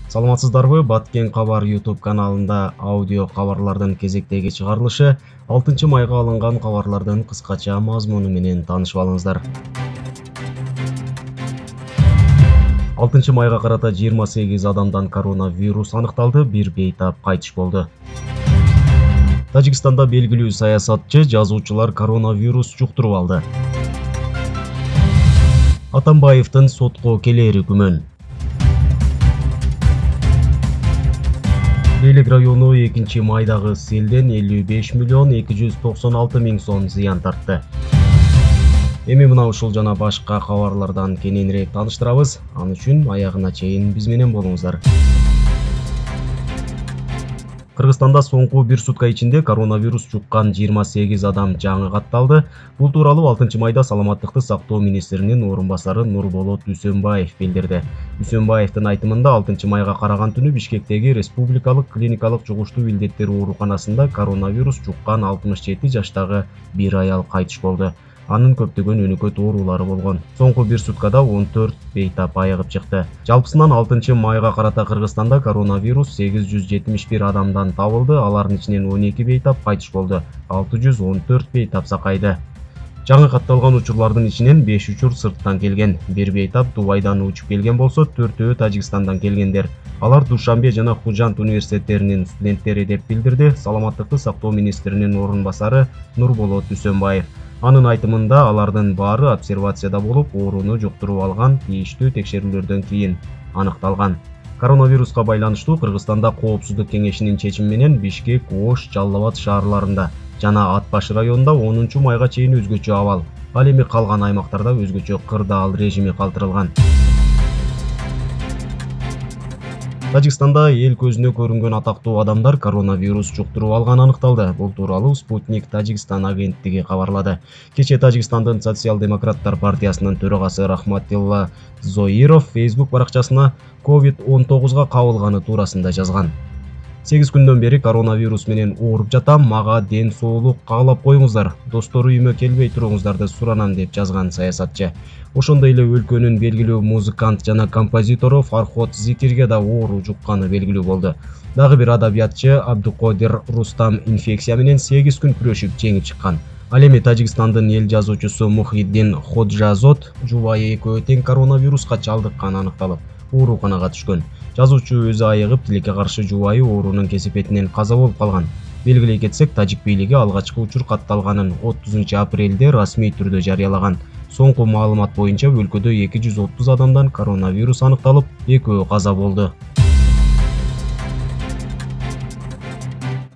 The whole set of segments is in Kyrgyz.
Саламатсыздарбы? Баткен кабар YouTube каналында аудио кабарлардын кезектеги чыгарылышы 6 майга алынган кабарлардын кыскача мазмуну менен таанышып алыңыздар. 6 майга карата 28 адамдан коронавирус аныкталды, бир бейтап кайтыш болду. Тажикстанда белгилүү саясатчы, жазуучулар коронавирус жуктуруп алды. Атамбаевдин сотко келери күмөн. Лейлек району 2 майдагы селден 55 миллион 296 миң сом зыян тартты. Эми мына ушул жана башка кабарлардан кененирээк тааныштырабыз. Аны үчүн аягына чейин биз менен болуңуздар. Кыргызстанда соңку бир сутка ичинде коронавирус жуккан 28 адам жаңы катталды. Бул тууралуу 6 майда саламаттыкты сактоо министринин орун басары Нурболот Үсөнбаев билдирди. Үсөнбаевдин айтымында 6 майга караган түнү Бишкектеги Республикалык клиникалык жугуштуу илдеттер ооруканасында коронавирус жуккан 67 жаштагы бир аял кайтыш болду. Анын көптөгөн өнөкөт оорулары болгон. Соңку бир суткада 14 бейтап айыгып чыкты. Жалпысынан 6 майга карата Кыргызстанда коронавирус 871 адамдан табылды. Алардын ичинен 12 бейтап кайтыш болду. 614 бейтап сакайды. Жаңы катталган учурлардын ичинен 5 учур сырттан келген. Бир бейтап Дубайдан учуп келген болсо, 4-өө Тажикстандан келгендер. Алар Душанбе жана Хужант университеттеринин студенттери деп билдирди саламаттыкты сактоо министринин орун басары Нурболот Үсөнбаев. Анын айтымында алардын баары обсервацияда болуп, ооруну жуктуруп алган, тийиштүү текшерүүлөрдөн кийин аныкталган. Коронавируска байланыштуу Кыргызстанда Коопсуздук кеңешинин чечими менен Бишкек, Ош, Жалал Абад шаарларында жана Ат Баш районунда 10 майга чейин өзгөчө абал. Ал эми калган аймактарда өзгөчө кырдаал режими калтырылган. Тажикстанда эл көзүнө көрүнгөн атактуу адамдар коронавирус жуктуруп алганы аныкталды. Бул тууралуу Спутник Тажикстан агенттиги кабарлады. Кечээ Тажикстандын Социал-демократтар партиясынын төрагасы Рахматилла Зоиров Facebook баракчасына COVID-19 кабылганы туурасында жазган. 8 күндөн бери коронавирус менен ооруп жатам, мага ден соолук каалап коюңуздар, достору үйүмө келбей туруңуздарды суранам деп жазган саясатчы. Ошондой эле өлкөнүн белгилүү музыкант жана композитору Фархот Зикирге да оору жукканы белгилүү болду. Дагы бир адабиятчы Абдукодир Рустам инфекция менен 8 күн күрөшүп жеңип чыккан. Ал эми Тажикстандын эл жазуучусу Мухиддин Ходжазот жубайы экөө тең коронавируска чалдыкканы аныкталып, ооруканага түшкөн. Жазуучу өзү айыгып, тилекке каршы жубайы оорунун кесепетинен каза болуп калган. Белгилей кетсек, Тажик бийлиги алгачкы учур катталганын 30 апрелде расмий түрдө жарыялаган. Соңку маалымат боюнча өлкөдө 230 адамдан коронавирус аныкталып, экөө каза болду.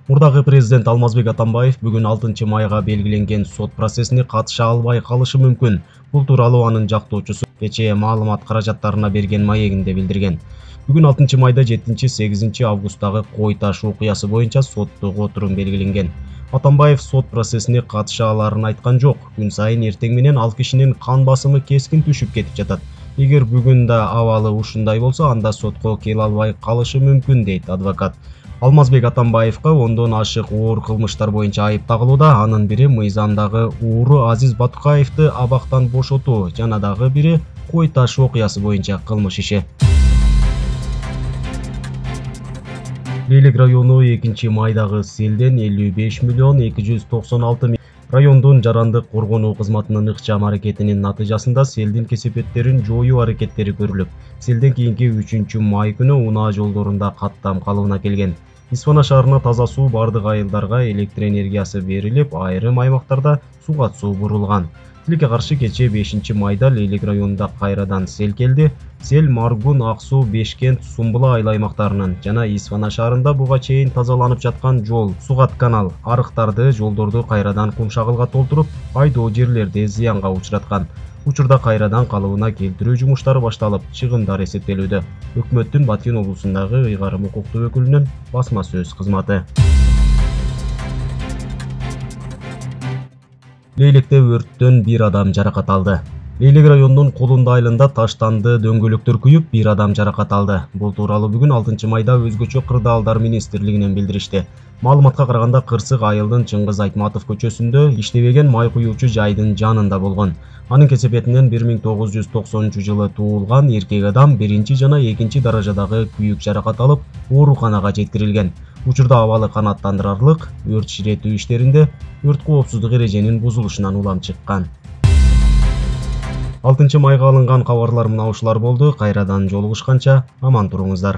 Мурдагы президент Алмазбек Атамбаев бүгүн 6 майга белгиленген сот процессине катыша албай калышы мүмкүн. Бул тууралуу анын жактоочусу кечээ маалымат каражаттарына берген маегинде билдирген. Бүгүн 6 майда 7-8 августтагы Кой Таш окуясы боюнча соттук отурум белгиленген. Атамбаев сот процессине катыша аларын айткан жок. Күн сайын эртең менен ал кишинин кан басымы кескин түшүп кетип жатат. Эгер бүгүн да абалы ушундай болсо, анда сотко келе албай калышы мүмкүн, дейт адвокат. Алмазбек Атамбаевка ондон ашык оор кылмыштар боюнча айып тагылууда. Анын бири мыйзамдагы ууру Азиз Батукаевди абактан бошотуу, жана дагы бири Кой Таш окуясы боюнча кылмыш иши. Лейлек району 2 майдагы селден 55 миллион 296 миң. Райондун жарандык коргонуу кызматынын ыкчам аракетинин натыйжасында селдин кесепеттерин жоюу аракеттери көрүлүп, селден кийинки 3 май күнү унаа жолдорунда каттам калыбына келген. Исфана шаарына таза суу бардык айылдарга электр энергиясы берилип, айрым аймактарда суга суу бурулган. Тилекке каршы кечээ 5 майда Лейлек районунда кайрадан сел келди. Сел Маргун, Аксуу, Бешкент, Сумбула айыл аймактарынын жана Исфана шаарында буга чейин тазаланып жаткан жол, сугат канал, арыктарды, жолдорду кайрадан кумшагылга толтуруп, айдоо жерлерди зыянга учураткан. Учурда кайрадан калыбына келтирүү жумуштары башталып, чыгымдар эсептелүүдө. Өкмөттүн Баткен облусундагы ыйгарым укуктуу өкүлүнүн басма сөз кызматы. Лейлекте өрттөн бир адам жаракат алды. Элек районунун Кулунду айылында таштанды дөңгөлөктөр күйүп, бир адам жаракат алды. Бул тууралуу бүгүн 6-майда өзгөчө кырдаалдар министрлигинен билдиришти. Маалыматка караганда кырсык айылдын Чыңгыз Айтматов көчөсүндө иштебеген май куюучу жайдын жанында болгон. Анын кесепетинен 1990 жылы туулган эркек адам 1 жана 2 даражадагы күйүк жаракат алып, ооруканага жеткирилген. Учурда абалы канааттандырарлык, өрт ширетүү иштеринде өрт коопсуздук эреженин бузулушунан улам чыккан. 6-майга алынган кабарлар мына ушулар болду. Кайрадан жолугушканча аман туруңуздар.